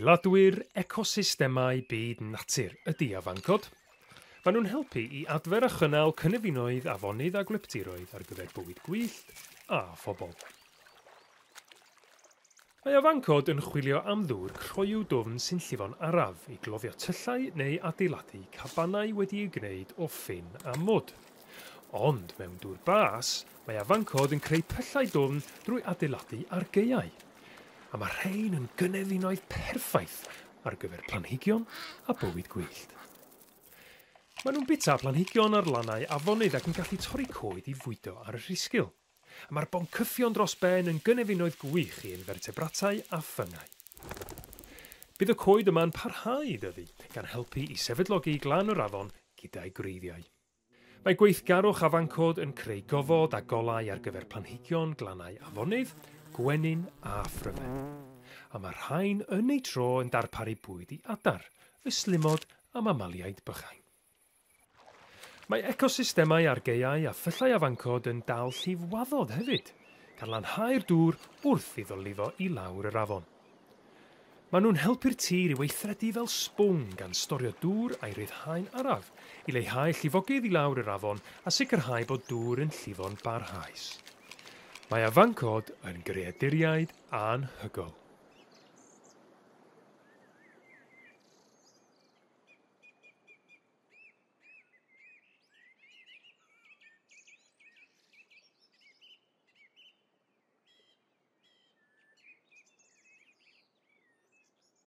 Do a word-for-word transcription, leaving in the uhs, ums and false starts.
Adeiladwyr ecosystemau byd natur ydy afancod. Maen nhw'n helpu i adfer a chynnal cynefinoedd, afonydd a gwlyptiroedd ar gyfer bywyd gwyllt a phobl. Mae afancod yn chwilio am ddŵr croyw dwfn sy'n llifo'n araf i gloddio tyllau neu adeiladu cabanau wedi'u gwneud o ffyn a mwd. Ond mewn dŵr bas, mae afancod yn creu pyllau dwfn drwy adeiladu argaeau. A mae rhain yn gynefinoedd perffaith ar gyfer planhigion a bywyd gwyllt. Maen nhw'n bwyta planhigion ar lannau afonydd ac yn gallu torri coed i fwydo ar y rhisgl. A mae'r boncyffion dros ben yn gynefinoedd gwych i infertebratau a ffyngau. Bydd y coed yma'n parhau i dyfu, gan helpu i sefydlogi glan yr afon gyda'i gwreiddiau. Mae gweithgarwch afancod yn creu gofod a golau ar gyfer planhigion glannau afonydd, gwenyn a phryfed. A mae'r rhain yn eu tro yn darparu bwyd i adar, ystlumod a mamaliaid bychain. Mae ecosystemau argaeau a phyllau afancod yn dal llifwaddod hefyd, gan lanhau'r dŵr wrth iddo lifo i lawr yr afon. Maen nhw'n helpu'r tir i weithredu fel sbwng gan storio dŵr a'i ryddhau'n araf, i leihau llifogydd i lawr yr afon a sicrhau bod dŵr yn llifo'n barhaus. Mae afancod yn greaduriaid anhygoel.